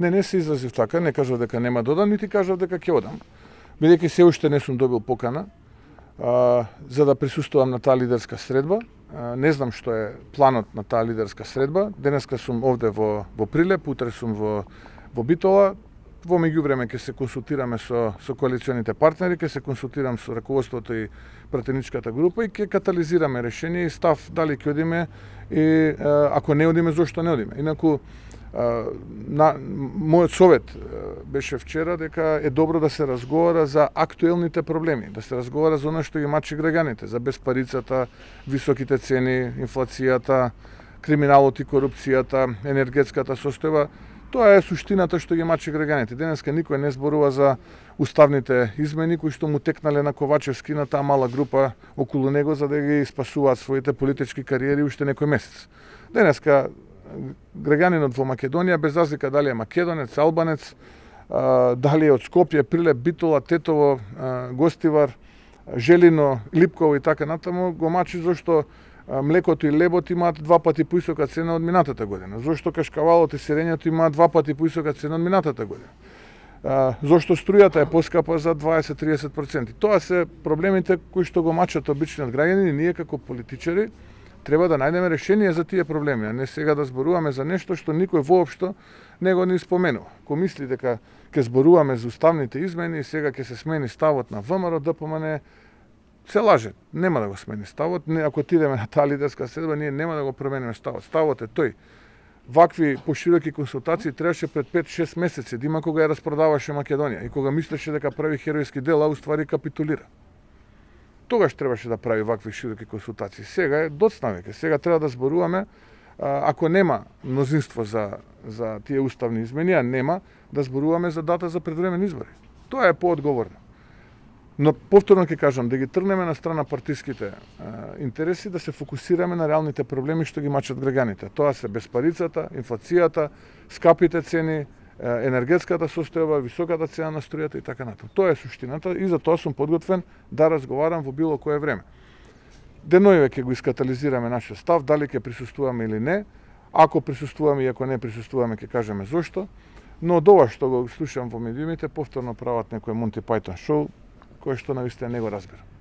Не се изразив така, не кажав дека нема да одам, нити кажав дека ќе одам. Бидејќи се уште не сум добил покана за да присуствувам на таа лидерска средба. Не знам што е планот на таа лидерска средба. Денеска сум овде во Прилеп, утре сум во Битола. Во меѓувреме ќе се консултираме со коалиционите партнери, ќе се консултирам со раководството и пратеничката група и ќе катализираме решение и став дали ќе одиме и ако не одиме зошто не одиме. Инаку мојот совет беше вчера дека е добро да се разговара за актуелните проблеми, да се разговара за она што ги мачи граѓаните, за безпарицата, високите цени, инфлацијата, криминалот и корупцијата, енергетската состојба. Тоа е суштината што ги мачи граѓаните. Денеска никој не зборува за уставните измени кои што му текнале на Ковачевски, на таа мала група околу него за да ги спасуваат своите политички кариери уште некој месец. Денеска граѓанинот во Македонија, без разлика дали е македонец, албанец, дали е од Скопје, Прилеп, Битола, Тетово, Гостивар, Желино, Липково и така натаму, го мачи зашто млекото и лебот имаат 2 пати поисока цена од минатата година. Зошто кашкавалот и сирењето имаат 2 пати поисока цена од минатата година. Зошто струјата е поскапа за 20-30%. Тоа се проблемите кои што го мачат обичниот граѓанин и ние како политичари треба да најдеме решение за тие проблеми, а не сега да зборуваме за нешто што никој воопшто не го ни споменува. Ко мисли дека ќе зборуваме за уставните измени и сега ќе се смени ставот на ВМРО, ДПМН, се лаже. Нема да го смени ставот. Ако отидеме на таа лидерска средба, ние нема да го промениме ставот. Ставот е тој. Вакви пошироки консултации требаше пред 5-6 месеци, да има кога ја распродаваше Македонија и кога мислеше дека прави херојски дел, а уствари капитулира. Тогаш требаше да прави вакви широки консултации. Сега е доцна веќе. Сега треба да зборуваме, ако нема мнозинство за тие уставни измени, а нема, да зборуваме за дата за предвремени избори. Тоа е поодговорно. Но повторно ќе кажам, да ги тргнеме на страна партиските интереси, да се фокусираме на реалните проблеми што ги мачат граѓаните. Тоа се безпарицата, инфлацијата, скапите цени, енергетската состојба, високата цена на струјата и така натаму. Тоа е суштината и за тоа сум подготвен да разговарам во било кое време. Деноиве ќе го искатализираме нашиот став, дали ќе присуствуваме или не. Ако присуствуваме и ако не присуствуваме, ќе кажеме зошто. Но од ова што го слушам во медиумите, повторно прават некој Монти Пајтон шоу, кој што навистина не го разбира.